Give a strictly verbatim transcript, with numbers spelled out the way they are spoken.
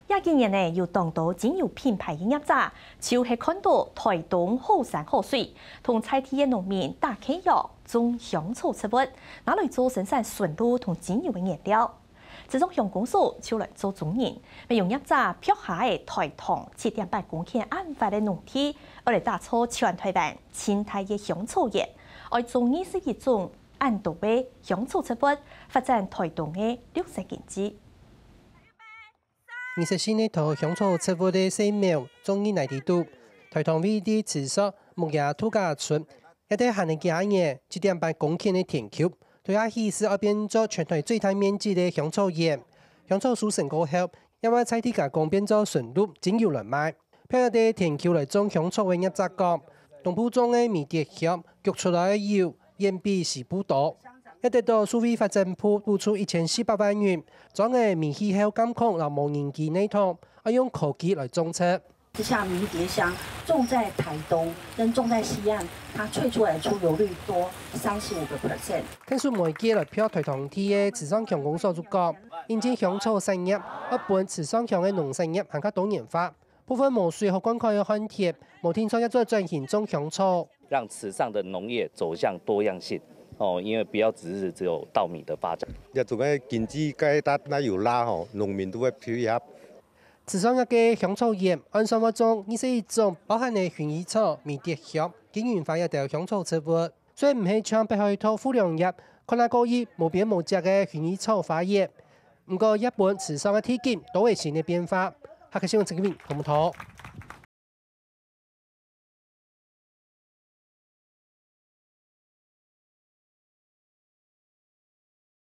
這幾年呢，有當多精油品牌个業者，就係看到臺東好山好水，同在地个農民打契約，種香草植物，拿來做生產純露同精油个原料。池上鄉公所就來做中人，乜用業者拍下个臺東七點八公頃恁闊个農地，愛來打造全臺灣盡大个香草園，愛種二十一種恁多个香草植物，發展臺東个綠色經濟。 二十四年頭，香草植物个生苗，中人來知著。臺東位於池上牧野度假村，這兜閒个幾下年，七點八公頃个田坵，對下去係愛變做全臺最大面積个香草園。香草收成過後，也會在地加工變做純露、精油來賣。 別个田坵來種香草个業者講，東部種个迷迭香，焗出來个油遠比西部多。也得到數位發展部補助一千四百萬元，種个微氣候監控摎無人機系統，愛用科技來種植。這下迷迭香種在臺東跟種在西岸，它萃出來出油率多三十五個percent。天數每屆來標臺東地个池上鄉公所就講，引進香草產業，愛分池上鄉个農產業還較多元化。 部分無水好灌溉个旱地，無定著也做轉型種香草。讓池上的農業走向多樣性，哦，因為不要只是只有稻米的發展。這種个經濟該搭那有拉吼，農民都會配合。池上這個香草園，按算會種二十一種，包含个薰衣草、迷迭香、金銀花這兜香草植物。 雖毋係像北海道富良野看啊過去無邊無際个薰衣草花園，毋過也分池上个地景多一新个變化。客家新聞陳啟明，同步投。